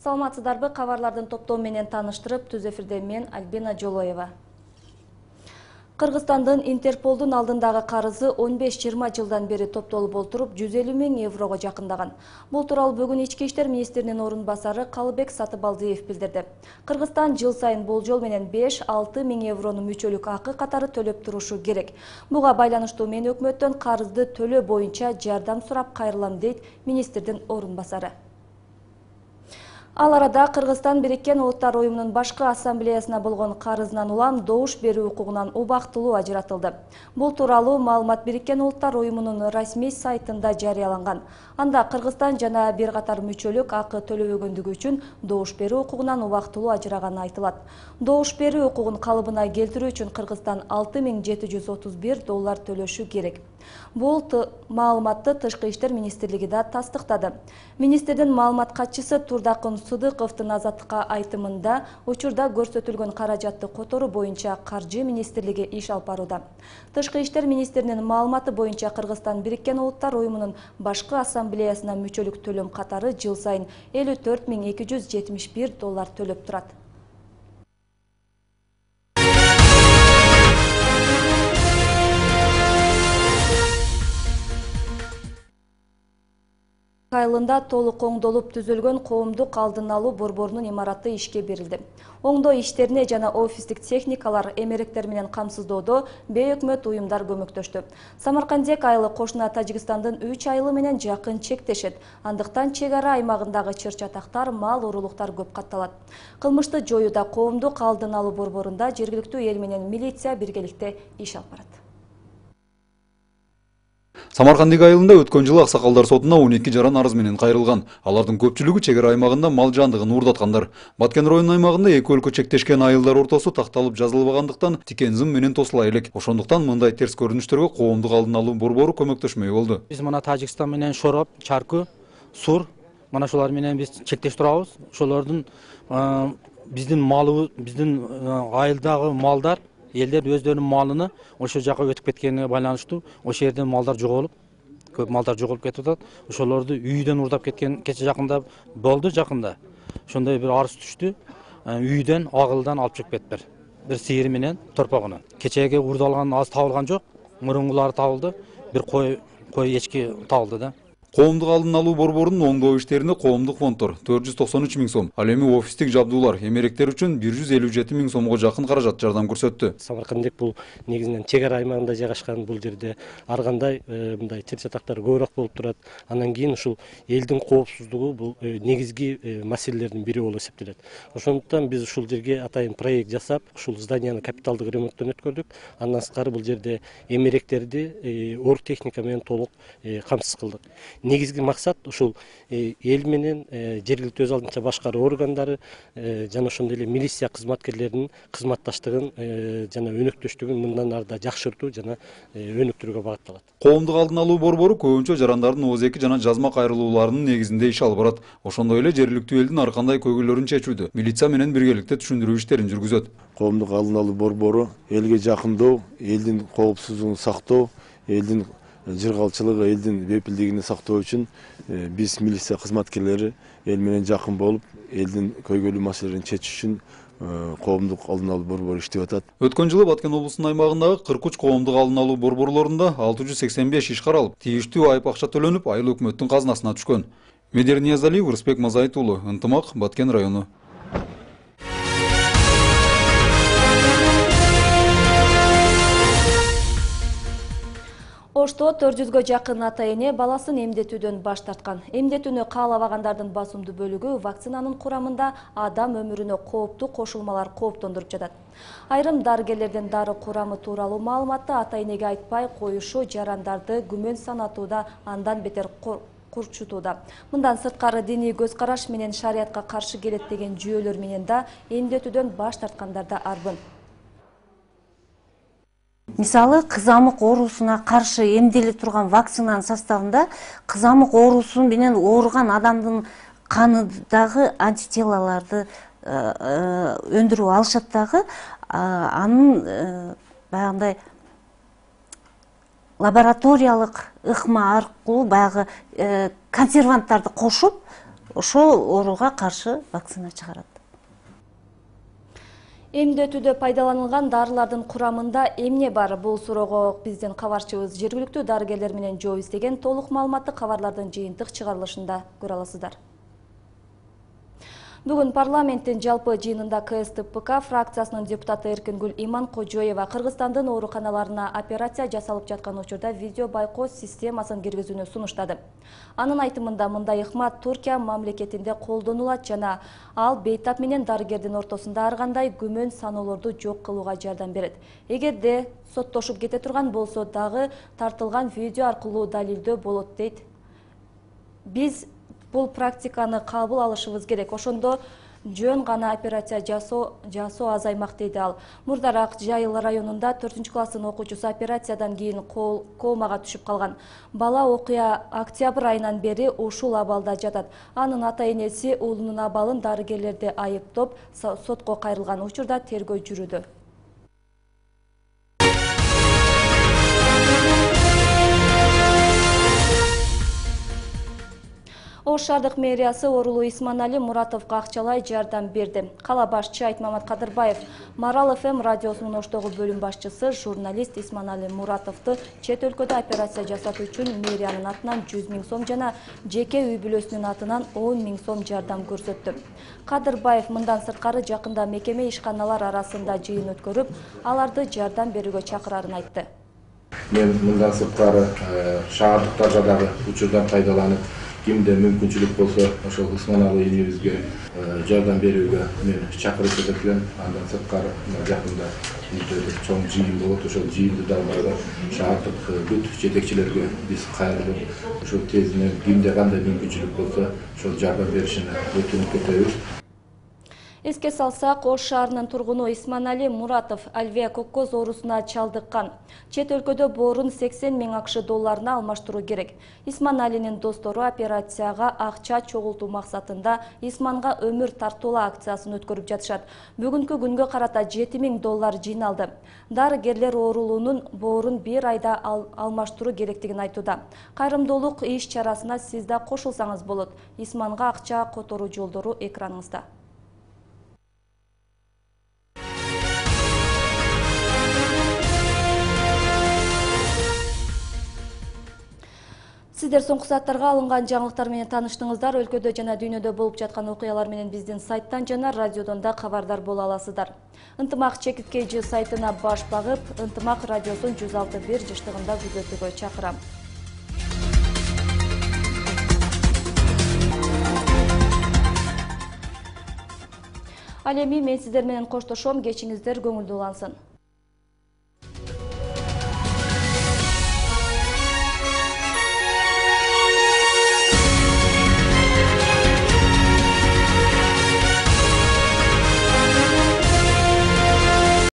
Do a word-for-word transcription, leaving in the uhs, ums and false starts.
Саламатсыздарбы, кабарлардын топтоо менен таныштырып, түз эфирде мен Альбина Жолоева. Кыргызстандын Интерполдун алдындагы карызы он беш жыйырма жылдан бери топтолуп отуруп, жүз элүү миң еврого жакындаган. Бул тууралуу бүгүн Ички иштер министринин орун басары Калыбек Сатыбалдиев билдирди. Кыргызстан жыл сайын болжол менен беш алты миң еврону мүчөлүк акы катары төлөп турушу керек. Буга байланыштуу мен өкмөттөн карызды төлөө боюнча жардам сурап кайрылам, дейт министрдин орун басары. Ал арада Кыргызстан Бириккен Улуттар уюмунун башкы ассамблеясына болгон карызынан улам добуш берүү укугунан убактылуу ажыратылды. Бул тууралуу маалымат Бириккен Улуттар уюмунун расмий сайтында жарыяланган. Анда Кыргызстан жана бир катар мүчөлүк акы төлөбөгөндүгү үчүн добуш берүү укугунан убактылуу ажыраганы айтылат. Добуш берүү укугун калыбына келтирүү үчүн Кыргызстан алты миң жети жүз отуз бир доллар төлөшү керек. Бул маалыматты Тышкы иштер министрлиги да тастыктады. Министрдин маалымат катчысы Турдакын Сыдыковдун Азаттыкка айтымында учурда көрсөтүлгөн каражатты которуу боюнча Каржы министрлиги иш алып барууда. Тышкы иштер министринин маалыматы боюнча Кыргызстан Бириккен Улуттар уюмунун башкы ассамблеясына мүчөлүк төлөм катары жыл сайын элүү төрт миң эки жүз жетимиш бир доллар төлөп турат. Айылында толук оңдолуп түзүлгөн коомдук алдын алуу борборунун имараты ишке берилди. Оңдоо иштерине жана офистик техникалар, эмеректер менен камсыздоодо бейөкмөт уюмдар көмөктөштү. Самаркандек айылы кошуна Тажикстандын үч айылы менен жакын чектешет. Андыктан чек ара аймагындагы чыр-чатактар, мал уруулуктар көп катталат. Кылмышты жоюуда коомдук алдын алуу борборунда жергиликтүү эл менен милиция биргеликте иш алып барат. Самаркандик айылында өткөн жылы аксакалдар сотуна он эки жаран арыз менен кайрылган. Алардын көпчүлүгү чек ара аймагында мал жандыгын уурдаткандар. Баткен районунун аймагында эки өлкө чектешкен айылдар ортосу такталып жазылбагандыктан тикен зым менен тосула элек. Ошондуктан мындай терс көрүнүштөргө коомдук алдын алуу борбору көмөктөшмөй болду. Биз мына Тажикстан менен Шороп, Чарку, Сур, мына шулар менен биз чектеш турабыз. Ошолордун биздин малыбыз, биздин айылдагы малдар элдер өздөрүнүн малыны ошол жака өтүп кеткенине байланыштуу ошол жерден малдар жоголуп, көп малдар жоголуп кетип атат. Ошолорду үйдөн уурдап кеткен кече жакында болду, жакында. Ошондой бир арыз түштү. Үйдөн агылдан алып чыгып кетиптир. Бир сыйыр менен торпогуну. Кечеге уурдалган аз табылган жок, мурункулары табылды. Бир кой, кой эчки табылды да. Коомдук алдын алуу борборунун оңдоо иштерине коомдук фонддор төрт жүз токсон үч миң сом, ал эми офистик жабдуулар, эмеректер үчүн бир жүз элүү жети миң сомго жакын каражат жардам көрсөттү. Самаркандек бул негизинен чек ара аймагында жайгашкан, бул жерде ар кандай мындай чыр-чатактар көбүрөөк болуп турат. Андан кийин ушул элдин коопсуздугу бул негизги маселелердин бири болуп эсептелет. Ошондуктан биз ушул жерге атайын проект жасап, ушул зданияны капиталдык ремонттон өткөрдүк. Андан сырткары бул жерде эмеректерди оргтехника менен толук камсыз кылдык. Негизги максат ушул эл менен жергиликтүү өз алдынча башкаруу органдары жана ошондой эле милиция кызматкерлеринин кызматташтыгын жана өнөктөштүгүн мындан ары да жакшыртуу жана өнүктүрүүгө багытталат. Коомдук алдын алуу борбору көбүнчө жарандардын ооз-эки жана жазма кайрылууларынын негизинде иш алып барат. Ошондой эле жергиликтүү элдин ар кандай көйгөйлөрүн чечүүдө милиция менен биргеликте түшүндүрүү иштерин жүргүзөт. Коомдук алдын алуу борбору элге жакындоо, элдин коопсуздугун сактоо, элдин жыргалчылыгы, элдин бепилдигин сактоо үчүн биз милиция кызматкерлери эл менен жакын болуп, элдин көйгөйлүү маселелерин чечиш үчүн коомдук алдын алуу борбору иштеп атат. Өткөн жылы Баткен облусунун аймагындагы кырк үч коомдук алдын алуу борборлорунда алты жүз сексен беш иш каралып, тийиштүү айып акча төлөнүп, айыл өкмөттүн казынасына түшкөн. Медер Ниязалиев, Рысбек Мазайыт уулу, Ынтымак, Баткен району. Ошто төрт жүзгө жакын ата-эне баласын эмдетүүдөн баш тарткан. Эмдетүүнү каалабагандардын басымдуу бөлүгү вакцинанын курамында адам өмүрүнө кооптуу кошулмалар кооптондуруп жатат. Айрым дарыгерлердин дары курамы тууралуу маалыматты ата-энеге айтпай коюшу жарандарды күмөн санатууда, андан бетер курчутууда. Мындан сырткары диний көз караш менен шариятка каршы келет деген жүйөлөр менен да эмдетүүдөн баш тарткандар да арбын. Мисалы, кызамык оорусуна каршы эмделе турган вакцинанын составында кызамык оорусу менен ооруган адамдын канындагы антителаларды өндүрүп алышат дагы, анын баягындай лабораториялык ыкма аркылуу баягы консерванттарды кошуп ошол ооруга каршы вакцина чыгарат. Эмдетүүдө пайдаланылган дарылардын курамында эмне бар? Бул суроого биздин кабарчыбыз жергиликтүү дарыгерлер менен жооп издеген. Толук маалыматты кабарлардын жыйынтык чыгарылышында көрө аласыздар. Бүгүн парламенттин жалпы жыйынында К С Д П К фракциясынын депутаты Эркингүл Иманкожоева Кыргызстандын ооруканаларына операция жасалып жаткан учурда видео байкоо системасын киргизүүнү сунуштады. Анын айтымында мындай ыкма Туркия мамлекетинде колдонулат жана ал бейтап менен дарыгердин ортосунда ар кандай күмөн саноолорду жок кылууга жардам берет. Эгерде соттошуп кете турган болсо дагы тартылган видео аркылуу далилдөө болот дейт. Биз бул практиканы кабыл алышыбыз керек. Ошондо жөн гана операция жасоо жасоо азаймак дейди ал. Мурдараак Жайыл районунда төртүнчү класстын окуучусу операциядан кийин комага түшүп калган. Бала окуя октябрь айынан бери ушул абалда жатат. Анын ата-энеси уулунун абалын дарыгерлерди айыптоп сотко кайрылган. Учурда тергөө жүрүүдө. Ош шаардык мэриясы оорулуу Исманали Муратовго акчалай жардам берди. Кала башчы Айтмамат Кадырбаев Марал эф эм радиосунун Оштогу бөлүм башчысы журналист Исманали Муратовду чет өлкөдө операция жасатуу үчүн мэриянын атынан жүз миң сом жана жеке үй бүлөсүнүн атынан он миң сом жардам көрсөттү. Кадырбаев мындан сырткары жакында мекеме ишканалар арасында жыйын өткөрүп, аларды жардам берүүгө чакырарын айтты. Мен мындан сырткары шаардыктарда дагы учурдан пайдаланып, кимде мүмкүнчүлүк болсо ошол Исманали энебизге жардам берүүгө мен чакырып элем. Андан сырткары жакында чоң жыйын болот. Ошол жыйынды дагы шаардык бүт жетекчилерге биз кайрылып, ошол тезинен кимде кандай мүмкүнчүлүк болсо ошол жардам беришине өтүнүп кетебиз. Эске салсак, Ош шаарынын тургуну Исманали Муратов Альвея коккоз оорусуна чалдыккан. Чет өлкөдө боорун сексен миң акш долларына алмаштыруу керек. Исманалинин достору операцияга акча чогултуу максатында Исманга өмүр тартуулаа акциясын өткөрүп жатышат. Бүгүнкү күнгө карата жети миң доллар жыйналды. Дарыгерлер оорулуунун боорун бир айда ал алмаштыруу керектигин айтууда. Кайрымдуулук иш чарасына сиз да кошулсаңыз болот. Исманга акча которуу жолдору экраныңызда. Сиздер соңку сааттарга алынган жаңылыктар менен тааныштыңыздар. Өлкөдө жана дүйнөдө болуп жаткан окуялар менен биздин сайттан жана радиодон да кабардар боло аласыздар. Ынтымак чекиткейжи сайтына баш багып, Ынтымак радиосун жүз алты бир жыштыгында күзөтүүгө чакырам. Ал эми мен сиздер менен коштошом, кечиңиздер көңүлдүү улансын.